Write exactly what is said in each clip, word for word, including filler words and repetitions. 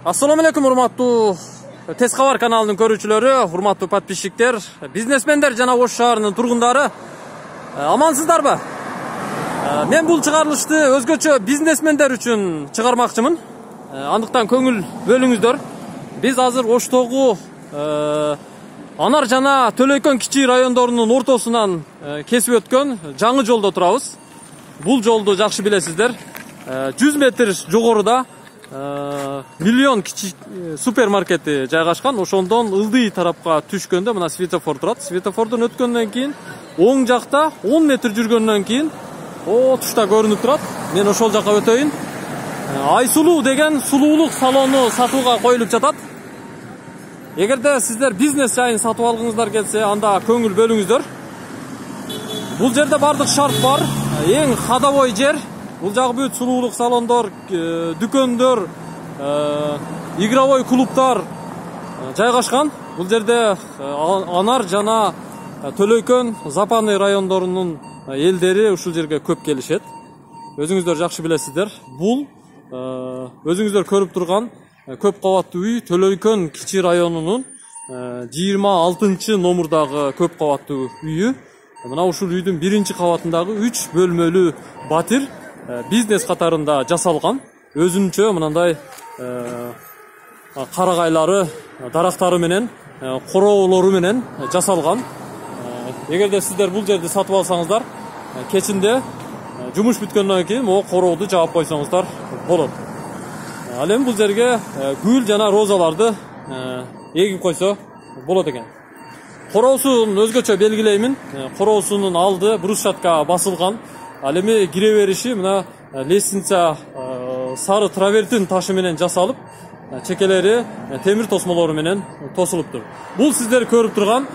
Assalamu alaikum урматтуу Тез кабар каналынын көрүүчүлөрү, урматтуу подписчиктер, бизнесмендер жана Ош шаарынын тургундары, амансыздарбы? Мен бул чыгарылышты өзгөчө бизнесмендер үчүн чыгармакчымын. Андыктан көңүл бөлүңүздөр. Биз азыр Оштогу Анар жана Төлөйкөн кичи райондорунун ортосунан кесип өткөн жаңы жолдо турабыз. Бул жолду жакшы билесиздер. жүз метр жогоруда миллион кичи супермаркети жайгашкан. Ошондон ылдый тарапка түшкөндө мына светофор турат. Светофордон өткөндөн кийин оң жакта он метр жүргөндөн кийин о тушта көрүнүп турат. Мен ошол жака өтөйүн. Айсулуу деген сулуулук салону сатууга коюлуп жатат. Эгерде сиздер бизнес жайын сатып алгыңыздар келсе, анда көңүл бөлүңүздөр. Бул жерде бардык шарт бар. Эң ходовой жер. Бул жагы бүт сулуулук салондор, дүкөндөр, игровой клубтар жайгашкан. Бул жерде Анар жана Төлөйкөн, Запанный райондорунун элдери ушул жерге көп келишет. Өзүңүздөр жакшы билесиздер. Бул өзүңүздөр көрүп турган көп кабаттуу үй Төлөйкөн кичи районунун жыйырма алтынчы номурдагы көп кабаттуу үйү. Мына ушул үйдүн биринчи кабатындагы үч бөлмөлүү батир бизнес катарында жасалган. Өзүнчө мындай карагайлары, дарактары менен, короолору менен жасалган. Эгерде сиздер бул жерди сатып алсаңыздар, кечинде жумуш бүткөндөн кийин могу корооду жаап койсоңуздар болот. Ал эми бул жерге гүл жана розаларды эгип койсо болот экен. Короосун өзгөчө белгилеймин. Короосунун алды брусчатка басылган. Ал эми кире бериши мына лестница сары травертин ташы менен жасалып, чекелери темир тосмолору менен тосулуптур. Бул сиздер көрүп турган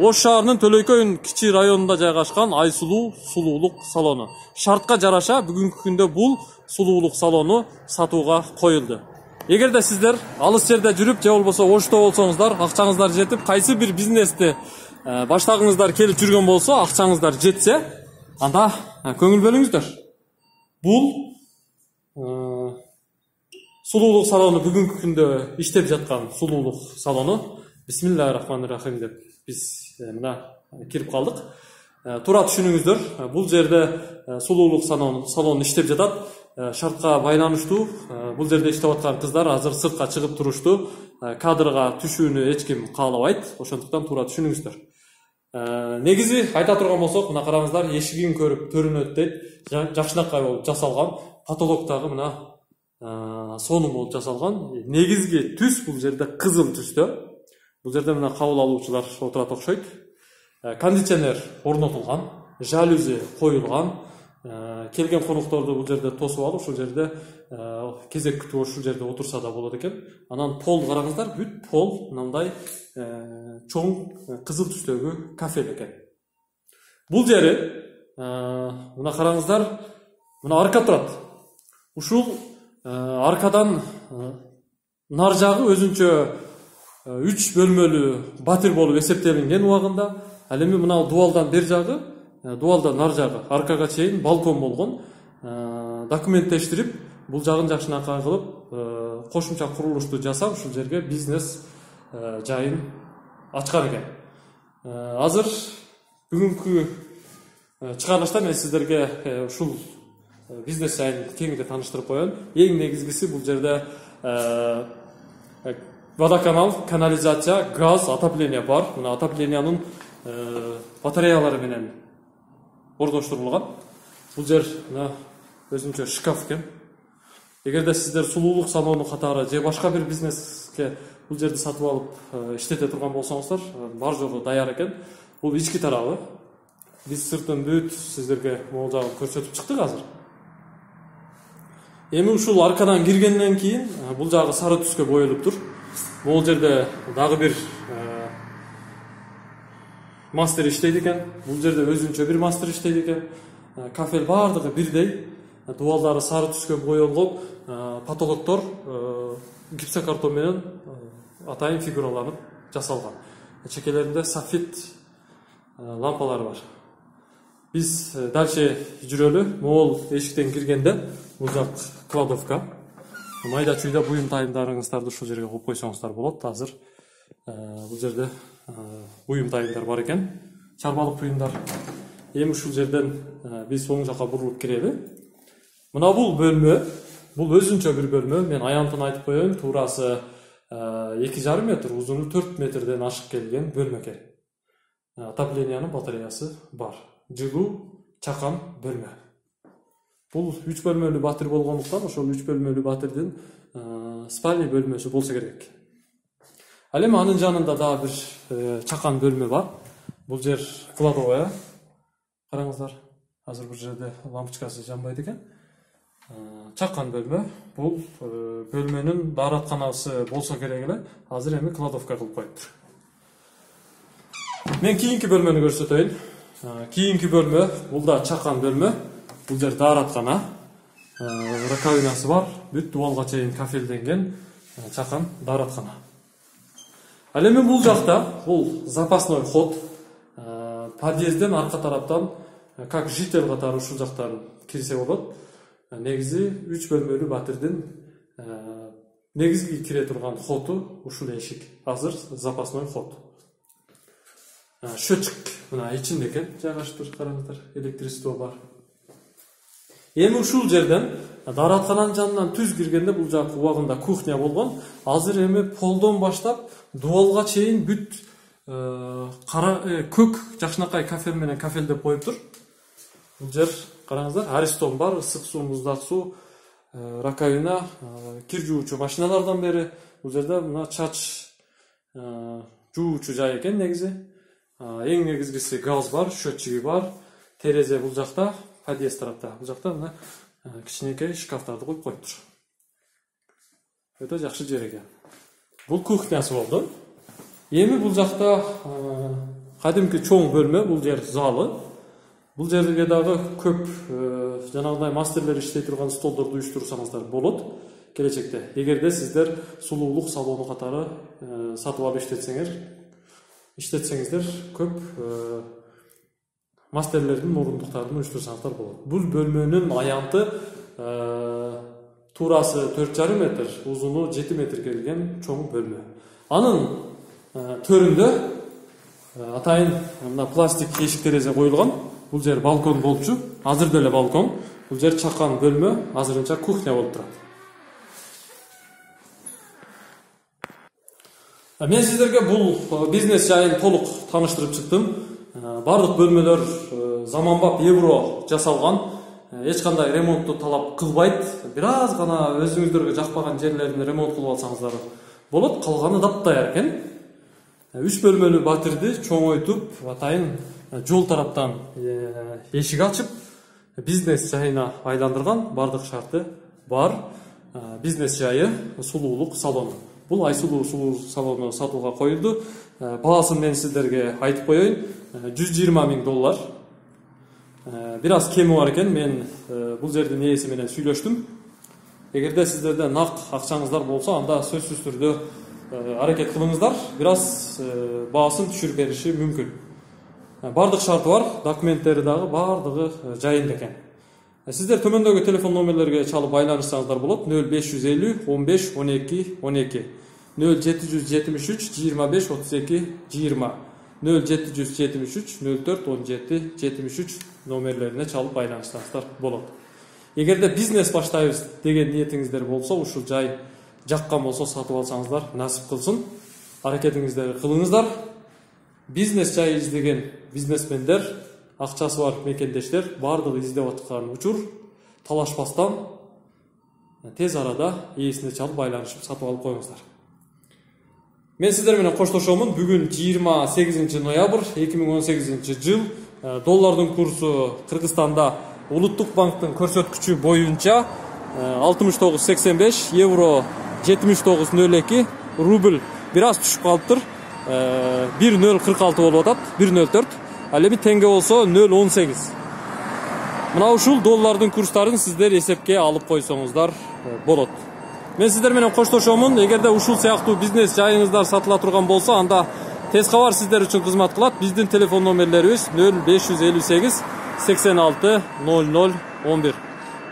Ош шаарынын Төлөйкөн кичи районунда жайгашкан Айсулуу сулуулук салону. Шартка жараша бүгүнкү күндө бул сулуулук салону сатууга коюлду. Эгерде сиздер алыс жерде жүрүп, же болбосо Ошто болсоңуздар, акчаңыздар жетип, кайсы бир бизнести баштагыңыздар келип жүргөн болсо, акчаңыздар жетсе, анда көңүл бөлүңүздөр. Бул сулуулук салону бүгүнкү күндө иштеп жаткан сулуулук салону. Бисмиллахир-рахманир-рахим деп биз мына кирип калдык. Тура түшүнүңүздөр. Бул жерде сулуулук салону иштеп жатат. Шартка байланыштуу бул жерде иштеп аткан кыздар азыр сыртка чыгып турушту. Кадрга түшүүнү эч ким каалабайт. Ошондуктан тура түшүнүңүздөр. Негизи айта турган болсок, мына караңыздар, эшигин көрүп төрүнөт дейт. Жакшынакай болуп жасалган. Потолоктогу мына сонун болуп жасалган. Негизги түс бул жерде кызыл түстө. Бул жерде мына кабыл алуучулар отурат окшойт. Кондиционер орнотулган, жалюзи коюлган. Келген конокторду бул жерде тосуп алып, ушул жерде кезек күтүп ушул жерде отурса да болот экен. Анан пол караңыздар, бүт пол мындай чоң кызыл түстөгү кафель экен. Бул жери мына караңыздар, мына арка турат. Ушул аркадан нар жагы өзүнчө үч бөлмөлүү батир болуп эсептелинген убагында. Ал эми мына дубалдан бер жагы, дубалдан нар жагы аркага чейин балкон болгон. Документтештирип, бул жагын жакшынакай кылып, кошумча курулушту жасап, ушул жерге бизнес жайын ачкан экен. Азыр бүгүнкү чыгарылышта мен сиздерге ушул бизнес жайын кеңири тааныштырып коеюн. Эң негизгиси бул жерде водоканал, канализация, газ, отопление бар. Мына отоплениянын батареялары менен ордоштурулган. Бул жер мына өзүнчө шкаф экен. Эгерде сиздер сулуулук салону катары же башка бир бизнеске бул жерди сатып алып иштете турган болсоңуздар, бар жогу даяр экен. Бул ички тарабы. Биз сыртын бүт сиздерге могул жагын көрсөтүп чыктык азыр. Эми ушул аркадан киргенден кийин бул жагы сары түскө боелуптур. Бул жерде дагы бир мастер иштейт экен. Бул жерде өзүнчө бир мастер иштейт экен. Кафель бардыгы бирдей. Дубалдары сары түскө боелгон, потолоктор гипсокартон менен атайын фигураланып жасалган. Чекелеринде софит лампалары бар. Биз дальше жүрөлү. Могул эшиктен киргенде бул жак кладовка. майда чүйдө буюм тайымдарыңыздарды ушул жерге коюп койсоңуздар болот. Азыр бул жерде буюм тайымдар бар экен, чарбалык буюмдар. Эми ушул жерден биз оң жака бурулуп кирели. Мына бул бөлмө, бул өзүнчө бир бөлмө. Мен аянтын айтып коеюн, туурасы эки жарым метр, узуну төрт метрден ашык келген бөлмө экен. Отоплениянын батареясы бар. Жылуу, чакан бөлмө. Бул үч бөлмөлүү батир болгондуктан ошол үч бөлмөлүү батирдин спальный бөлмөсү болсо керек. Ал эми анын жанында дагы бир чакан бөлмө бар. Бул жер кладовая. Караңыздар, азыр бул жерде лампочкасы жанбайт экен. Чакан бөлмө. Бул бөлмөнүн дааратканасы болсо керек эле. Азыр эми кладовка кылып коюптур. Мен кийинки бөлмөнү көрсөтөйүн. Кийинки бөлмө, бул да чакан бөлмө. Бул жер даараткана. Раковинасы бар. Бүт дубалга чейин кафелденген чакан даараткана. Ал эми бул жакта, бул запасной ход. Подъездден арка тараптан как житель катары ушул жактан кирсе болот. Негизи үч бөлмөлүү батирдин негизги кире турган хоту ушул эшик. Азыр запасной ход. Счетчик мына ичинде экен, жайгаштыр, караңыздар, электричество бар. Эми ушул жерден даараткананын жанынан түз киргенде бул жак убагында кухня болгон. Азыр эми полдон баштап дубалга чейин бүт кара көк жакшынакай кафел менен кафелдеп коюптур. Бул жер караңыздар, аристон бар, ысык суу, муздак суу, раковина, кир жуучу машиналардан бери бул жерде мына чач жуучу жай экен негизи. Эң негизгиси газ бар, счетчиги бар, терезе бул жакта, подъезд тарапта. Бул жакта мына кичинекей шкафтарды коюп коюптур. Өтө жакшы жер экен. Бул кухнясы болду. Эми бул жакта кадимки чоң бөлмө, бул жер залы. Бул жерге дагы көп жанагындай мастерлер иштей турган столдорду уюштурсаңыздар болот келечекте. Эгерде сиздер сулуулук салону катары сатып алып иштетсеңер, иштетсеңиздер көп мастерлердин мурундуктарын уюштурсаңыздар болот. Бул бөлмөнүн аянты туурасы төрт жарым метр, узуну жети метр келген чоң бөлмө. Анын төрүндө атайын мына пластик эшик терезе коюлган. Бул жер балкон болчу. Азыр деле балкон. Бул жер чакан бөлмө, азырынча кухня болуп турат. Мен сиздерге бул бизнес жайын толук тааныштырып чыктым. Бардык бөлмөлөр заманбап евро жасалган. Эч кандай ремонтту талап кылбайт. Бир аз гана өзүңүздөргө жакпаган жерлерин ремонт кылып алсаңыздар болот. Калганы дапдаяр экен. Үч бөлмөлүү батирди чоңойтуп, атайын жол тараптан эшик ачып, бизнес жайына айландырган. Бардык шарты бар. Бизнес жайы сулуулук салону. Бул Айсулуу сулуу салону сатууга коюлду. Баасын мен сиздерге айтып коеюн. жүз жыйырма миң доллар. Бир аз кеми бар экен. Мен бул жердин ээси менен сүйлөштүм. Эгерде сиздерде нак акчаңыздар болсо, анда сөзсүз түрдө аракет кылыңыздар. Бир аз баасын түшүрүп бериши мүмкүн. Бардык шарты бар, документтери дагы бардыгы жайында экен. Сиздер төмөндөгү телефон номерлерге чалып байланышсаңыздар болот. нөл беш жүз элүү он беш он эки он эки, нөл жети жүз жетимиш үч жыйырма беш отуз эки жыйырма, нөл жети жүз жетимиш үч нөл төрт он жети жетимиш үч номерлерине чалып байланышсаңыздар болот. Эгерде бизнес баштайбыз деген ниетиңиздер болсо, ушул жай жаккан болсо сатып алсаңыздар насип кылсын. Аракетиңиздерди кылыңыздар. Бизнес жай издеген бизнесмендер, акчасы бар мекендештер бардыгы издеп аткан учур талашпастан тез арада ээсине чалып байланышып сатып алып коюңуздар. Мен сиздер менен коштошомун. Бүгүн жыйырма сегизинчи ноябрь эки миң он сегизинчи жыл. Доллардын курсу Кыргызстанда Улуттук банктын көрсөткүчү боюнча алтымыш тогуз сексен беш, евро жетимиш тогуз нөл эки, рубль бир аз түшүп калыптыр. бир нөл кырк алты болуп атат, бир нөл төрт. Ал эми теңге болсо нөл он сегиз. Мына ушул доллардын курстарын сиздер эсепке алып койсоңуздар болот. Мен сиздер менен коштошомун. Эгерде ушул сыяктуу бизнес жайыңыздар сатыла турган болсо, анда тез кабар сиздер үчүн кызмат кылат. Биздин телефон номерлерибиз нөл беш жүз элүү сегиз сексен алты ноль ноль он бир.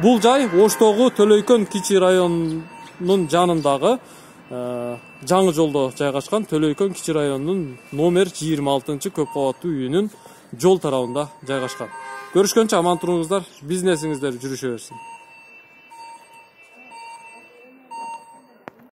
Бул жай Оштогу Төлөйкөн кичи район районунун жанындагы жаңы жолдо жайгашкан Төлөйкөн кичи районунун номер жыйырма алтынчы көп кабаттуу үйүнүн жол тарабында жайгашкан. Көрүшкөнчө аман туруңуздар, бизнесиңиздер жүрүшө берсин.